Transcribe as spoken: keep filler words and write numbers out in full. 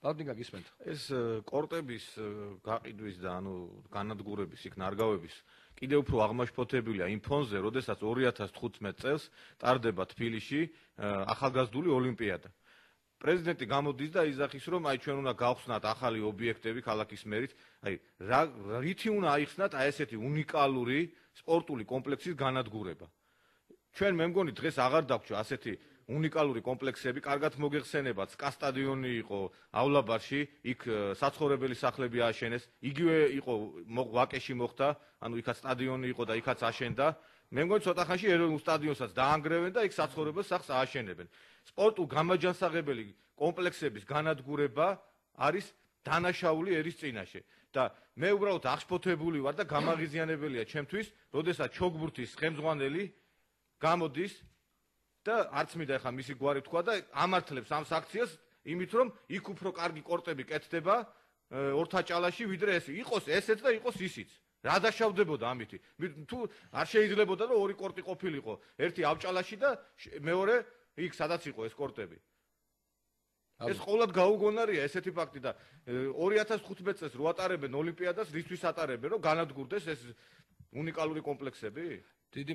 ბალდინგა გისმენთ. ეს კორტების გაყიდვის და ანუ განადგურების იქ ნარგავების კიდევ უფრო აღმაშფოთებელია იმ ფონზე, როდესაც ორი ათას თხუთმეტ წელს ტარდება თბილისში ახალგაზრდული ოლიმპიადა. პრეზიდენტი გამოდის და იზახის, რომ აი ჩვენ უნდა გავხსნათ ახალი ობიექტები ქალაქის მერით, აი რითი უნდა აიხსნათ აი ესეთი უნიკალური სპორტული კომპლექსის განადგურება. ჩვენ მე მგონი დღეს აღარ დაგვრჩა ასეთი უნიკალური კომპლექსები, კარგად მოგეხსენებათ, სკა სტადიონი იყოავლაბარში, იქ საცხოვრებელი სახლები ააშენეს, იგივე იყო ვაკეში მოხდა, ანუ იქაც სტადიონი იყო და იქაც აშენდა. მე მგონი ცოტა ხანში ეროვნულ სტადიონსაც დაანგრევენ და იქ საცხოვრებელ სახლს ააშენებენ. სპორტულ გამაჯანსაღებელი კომპლექსების განადგურება არის დანაშაული ერის წინაშე და მე უბრალოდ აღშფოთებული ვარ და გამაღიზიანებელია ჩემთვის, როდესაც ჩოგბურთის ხელმძღვანელი გამოდის და არც მინდა ახლა მისი გვარი თქვა და ამართლებს ამ აქციას იმით, რომ იქ უფრო კარგი კორტები კეთდება ორთაჭალაში, ვიდრე ეს იყოს ესეც და იყოს ისიც. რა დაშავდებოდა ამითი? თუ არ შეიძლებოდა რომ ორი კორტი ყოფილიყო, ერთი ავჭალაში და მეორე იქ სადაც იყო ეს კორტები. ეს ყოველად გაუგონარია ესეთი ფაქტი და ორი ათას თხუთმეტ წელს რო ატარებენ ოლიმპიადას, რისთვის ატარებენ, რომ განადგურდეს ეს უნიკალური კომპლექსები? დიდი